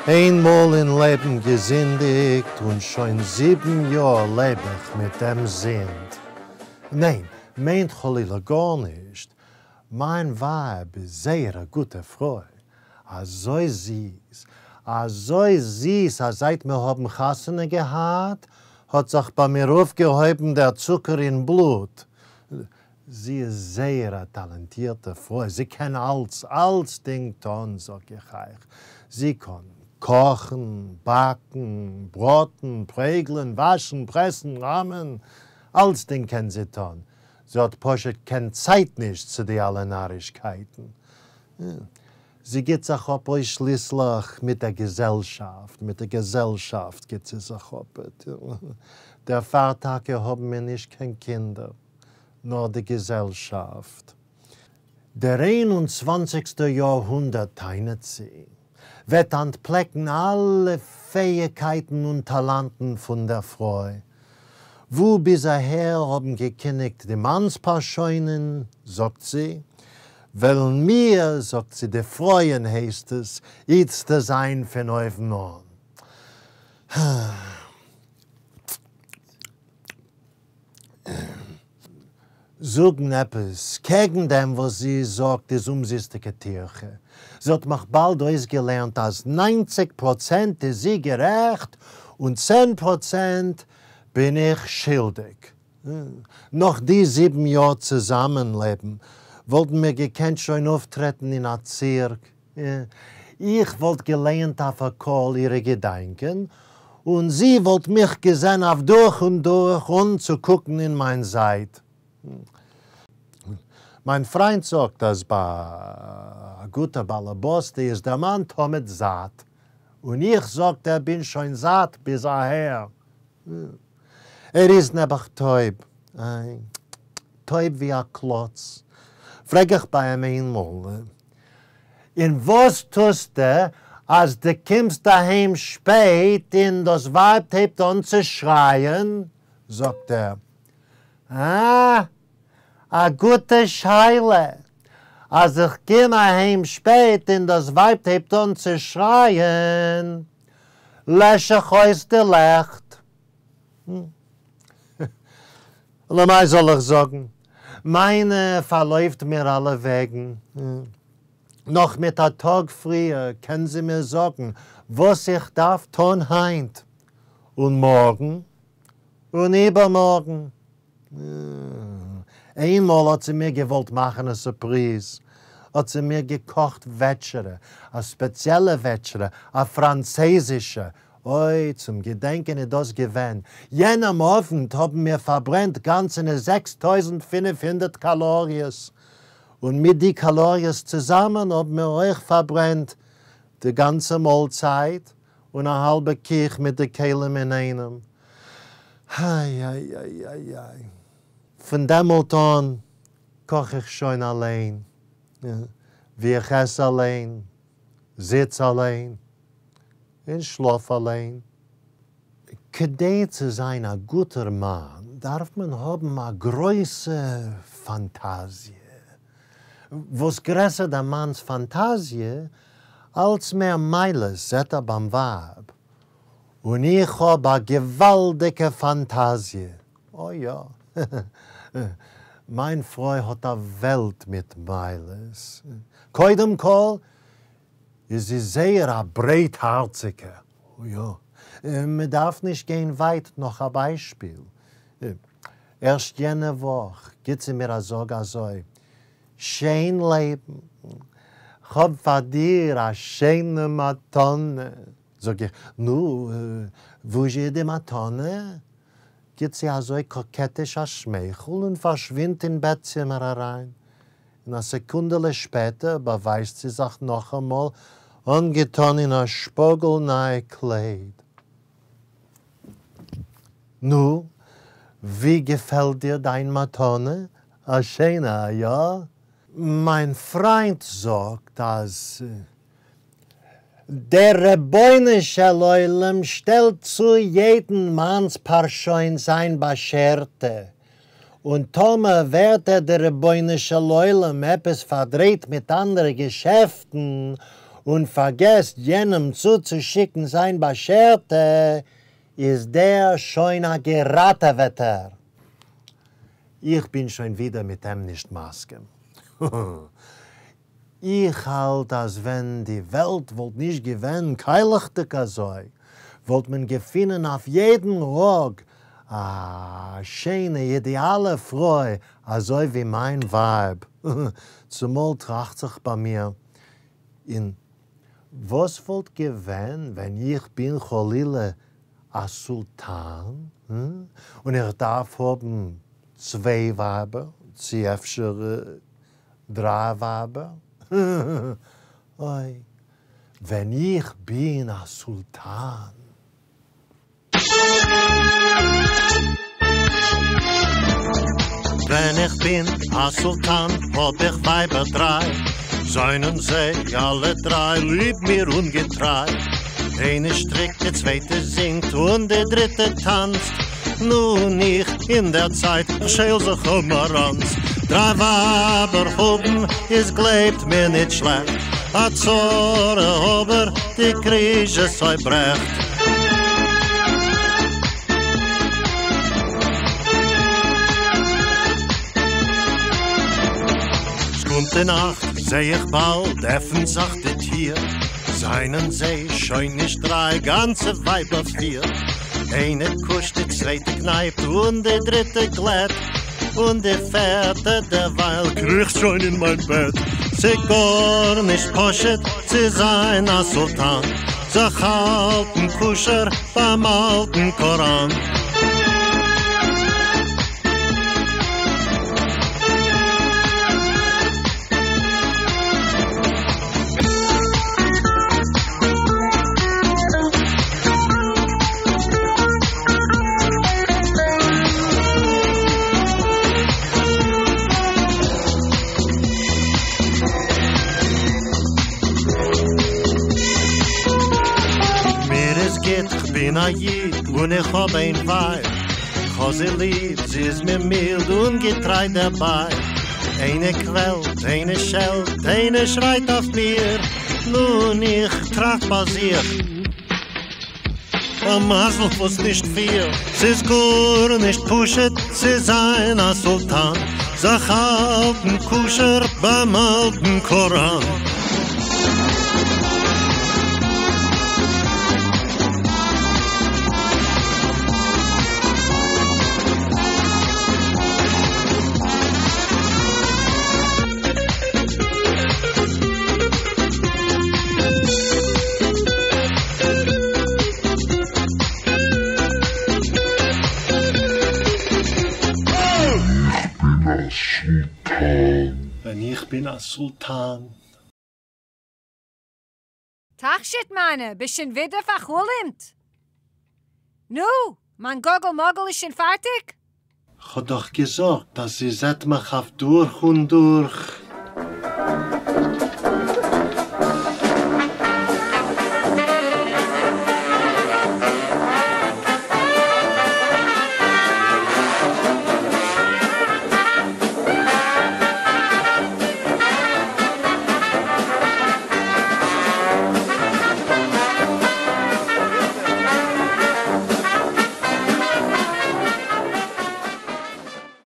איין מאל אין לעבן געזינדיגט און שוין זיבן יאר לעב איך מיט דעם זינד. ניין, מיינט חלילה גארנישט, מיין ווייב איז זייער א גוטע פרוי, אזוי זיס, אזוי זיס אז זייט מיר האבן חתונה געהאט האט זיך ביי מיר אויפגעהויבן דער צוקער אין בלוט. זי איז זייער א טאלענטירטע פרוי, זי קען אלץ, אלצדינג טון זאג איך אייך, זי קאן קאכן, באקן, בראטן, פרעגלען, וואשן, פרעסן, ראמען, אלצדינג קען זי טון, זי האט פשוט קיין צייט נישט צו די אלע נארישקייטן. זי גיט זיך אפ אויסשליסליך מיט דער געזעלשאפט, מיט דער געזעלשאפט גיט זי זיך אפ, דערפאר טאקע האבן מיר נישט קיין קינדער. נאר די געזעלשאפט. דער איין און צוואנציגסטער יאר-הונדערט, טענה'ט זי, וועט אנטפלעקן אלע פעאיגקייטן און טאלאנטן פון דער פרוי. וואו ביז אהער האבן געקיניגט די מאנספארשוינען, זאגט זי, וועלן מיר, זאגט זי, די פרויען הייסט עס, איצטער זיין פון אויבן אן. זאגן עפעס קעגן דעם וואס זי זאגט איז אומזיסטיגע טירחה. זי האט מיך באלד אויסגעלערנט אז ניינציג פראצענט איז זי גערעכט און צען פראצענט בין איך שילדיג. נאך די זיבן יאר צוזאמענלעבן וואלטן מיר געקענט שוין אויפטרעטן אין א צירק. איך וואלט געלייענט אויף א קול אירע געדאנקען, און זי וואלט מיך געזען אויף דורך און דורך אן צו קוקן אין מיין זייט. מיין פריינט זאגט אז ביי א גוטע באלעבאסטע איז דער מאן תמיד זאט, און איך, זאגט ער, בין שוין זאט ביז אהער. ער איז נעבעך טויב, איי, טויב ווי א קלאץ. פרעג איך ביי אים איינמאל, און וואס טוסטו אז דו קומסט אהיים שפעט און דאס ווייב הייבט אן צו שרייען? זאגט ער, אה, א גוטע שאלה, אז איך קום אהיים שפעט און דאס ווייב הייבט אן צו שרייען, לעש איך אויס די לעכט. למאי זאל איך זאגן? מיינע פארלויפט מיר אלע וועגן. נאך מיט א טאג פריער קען זי מיר זאגן וואס איך דארף טון היינט, און מארגן, און איבערמארגן. איינמאל האט זי מיר געוואלט מאכן א סורפריז, האט זי מיר געקאכט וועטשערע, א ספעציעלע וועטשערע, א פראנצייזישע, אוי, צום געדענקען איז דאס געווען, יענעם אוונט האבן מיר פארברענט גאנצענע 6500 קאלאריעס, און מיט די קאלאריעס צוזאמען האבן מיר אויך פארברענט די גאנצע מאלצייט און א האלבע קיך מיט די כלים אינאיינעם. איי-איי-איי-איי-איי. פון דעמאלט אן קאך איך שוין אליין, ווי איך עס אליין, זיץ אליין, און שלאף אליין. כדי צו זיין א גוטער מאן דארף מען האבן א גרויסע פאנטאזיע. וואס גרעסער דער מאנ'ס פאנטאזיע, אלץ מער מעלות זעט ער ביים ווייב. און איך האב א געוואלדיגע פאנטאזיע. אוי יא. מיין פרוי האט א וועלט מיט מעלות. קודם כל איז זי זייער א ברייטהארציגע. יא. מען דארף נישט גיין ווייט נאך א ביישפיל. ערשט יענע וואך גיט זי מיר א זאג אזוי, שיין לעבן, כ'האב פאר דיר א שיינע מתנה. זאג איך, נו, וואו איז די מתנה? גיט זי אזוי קאקעטיש א שמייכל און פארשווינדט אין בעט-צימער אריין. און א סעקונדעלע שפעטער באווייזט זי זיך נאכאמאל אנגעטאן אין א שפאגל ניי קלייד. נו, ווי געפעלט דיר דיין מתנה? א שיינע, איא? מיין פריינט זאגט אז דער רבונו של עולם שטעלט צו יעדן מאנספארשוין זיין באשערטע, און טאמער ווערט ער דער רבונו של עולם עפעס פארדרייט מיט אנדערע געשעפטן. און פארגעסט יענעם צוצושיקן זיין באשערטע, איז דער שוין א געראטעוועטער. איך בין שוין ווידער מיט אים נישט מסכים. איך האלט אז ווען די וועלט וואלט נישט געווען קיילעכדיג אזוי, וואלט מען געפינען אויף יעדן ראג א שיינע אידעאלע פרוי אזוי ווי מיין ווייב. צומאל טראכט זיך ביי מיר, און וואס וואלט געווען ווען איך בין חלילה א סולטאן און איך דארף האבן צוויי ווייבער, צו אפשר דריי ווייבער? אוי, ווען איך בין א סולטאן. ווען איך בין א סולטאן האב איך ווייבער דריי, זיינען זיי אלע דריי ליב מיר און געטריי. איינע שטריקט, די צווייטע זינגט און די דריטע טאנצט, נו און איך אין דער צייט שעל זיך א מאראנץ. דריי ווייבער האבן איז גלייבט מיר ניט שלעכט, א צרה אבער די קריזשעס אויב ברעכט. ס'קומט די נאכט, זע איך באלד עפנט זיך די טיר, זיינען זיי שוין נישט דריי, גאנצע ווייבער פיר. איינע קושט, די צווייטע קנייפט און די דריטע גלעט, און די פערטע דערווייל קריכט שוין אין מיין בעט. ס'גארנישט פשוט צו זיין א סולטאן, זיך האלטן כשר ביים אלטן קאראן. מיר איז גוט, כ'בין א איד און איך האב איין ווייב, כ'האב זי ליב, זי איז מיר מילד און געטריי דערביי. איינע קוועלט, איינע שעלט, איינע שרייט אויף מיר, נו און איך טראכט ביי זיך, א מזל וואס נישט פיר, ס'איז גארנישט פשוט צו זיין א סולטאן, זיך האלטן כשר ביים אלטן קאראן. ווען איך בין א סולטאן. תכשיט מיינע, ביסט שוין ווידער פאר'חלומ'ט? נו, מיין גאגל מאגל איז שוין פארטיג? כ'האב דאך געזאגט אז זי זעט מיך אויף דורך און דורך.